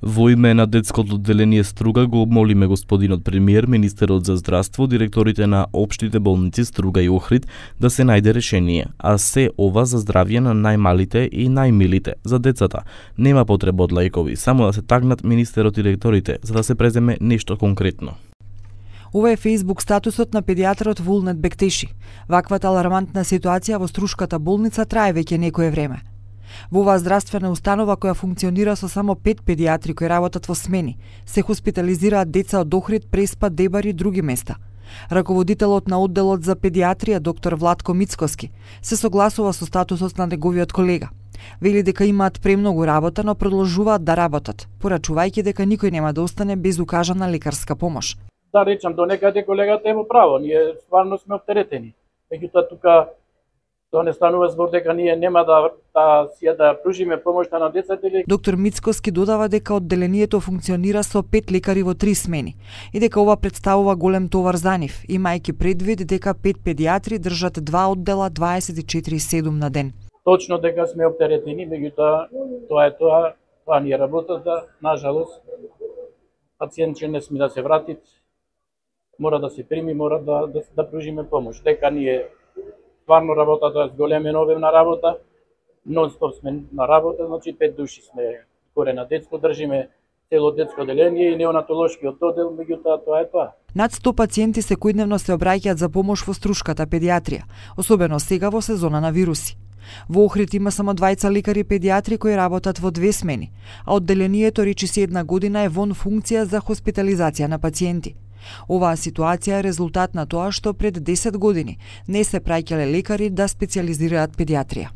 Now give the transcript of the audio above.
Во име на детското одделение Струга го молиме господинот премиер, министерот за здравство, директорите на општите болници Струга и Охрид да се најде решение, а се ова за здравје на најмалите и најмилите, за децата. Нема потреба од лајкови, само да се тагнат министерот и директорите, за да се преземе нешто конкретно. Ова е Facebook статусот на педијатрот Вулнет Бектеши. Ваквата алармантна ситуација во Струшката болница трае веќе некое време. Во оваа здравствена установа која функционира со само 5 педијатри кои работат во смени, се хоспитализираат деца од Охрид, Преспа, Дебар и други места. Раководителот на одделот за педијатрија, доктор Владко Мицкоски, се согласува со статусот на неговиот колега. Вели дека имаат премногу работа, но продолжуваат да работат, порачувајќи дека никој нема да остане без укажана лекарска помош. Да речам, до некаде колегата е во право, ние стварно сме оптеретени. Меѓутоа тука тоа не станува збор дека ние нема да пружиме помошта на децата. Доктор Мицкоски додава дека одделението функционира со 5 лекари во 3 смени и дека ова представува голем товар за нив, имајќи предвид дека 5 педијатри држат 2 оддела 24/7 на ден. Точно дека сме оптеретени, меѓутоа тоа ни е работата, нажалост. Пациент ќе не сме да се врати, мора да се прими, мора да пружиме помош. Дека ние стварно работата е зголемена обемна работа, нон-стоп сме на работа, значи 5 души сме горе на детско, држиме цело детско одделение и неонатолошкиот оддел, меѓутоа тоа е тоа. Над 100 пациенти секојдневно се обраќаат за помош во Струшката педијатрија, особено сега во сезона на вируси. Во Охрид има само 2 лекари педијатри кои работат во 2 смени, а одделението речиси една година е вон функција за хоспитализација на пациенти. Оваа ситуација е резултат на тоа што пред 10 години не се праќале лекари да специјализираат педијатрија.